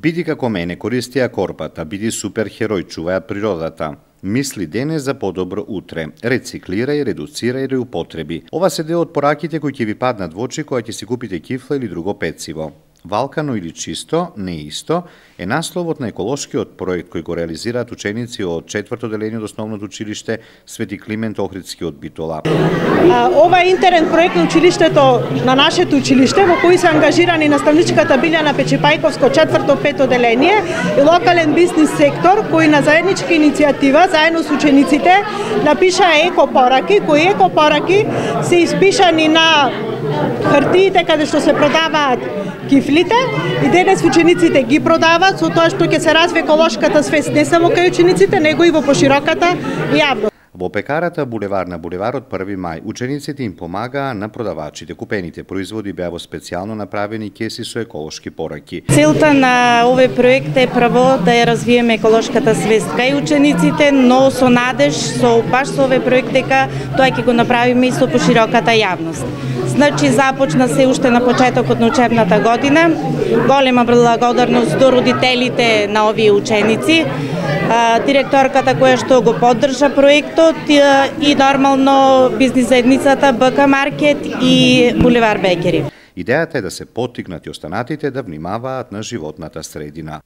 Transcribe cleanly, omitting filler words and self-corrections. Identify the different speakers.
Speaker 1: Биди како мене, користија корпата, биди суперхерој, чуваја природата. Мисли денес за подобро утре. Рециклирај, редуцирај, реупотреби. Ова се дел од пораките кои ќе ви паднат во очи кога ќе си купите кифла или друго пecivo. Валкано или чисто, не исто, е насловот на еколошкиот проект кој го реализираат ученици од 4-то деление од основното училиште Свети Климент Охридски од Битола.
Speaker 2: Ова е интерен проект на училиштето, на нашето училиште, во кој се ангажирани наставничката Билјана Печипајковско 4-то деление и локален бизнис сектор, кој на заедничка иницијатива заедно со учениците напиша екопораки, кои екопораки се испишани на хартиите каде што се продаваат кифлите и денес учениците ги продаваат со тоа што ќе се развие еколошката свест не само кај учениците, него и во пошироката јавност.
Speaker 1: Во пекарата булевар на булеварот 1 мај, учениците им помагаа на продавачите. Купените производи беа во специјално направени кеси со еколошки пораки.
Speaker 3: Целта на овој проект е прво да ја развиеме еколошката свест кај учениците, но со надеж, баш со овој проект дека тоа ќе го направиме и со пошироката јавност. Значи, започна се уште на почетокот на учебната година. Голема благодарност до родителите на овие ученици, директорката која што го поддржа проектот и нормално бизнис заедницата БК Маркет и Булевар Бекери.
Speaker 1: Идејата е да се поттикнат и останатите да внимаваат на животната средина.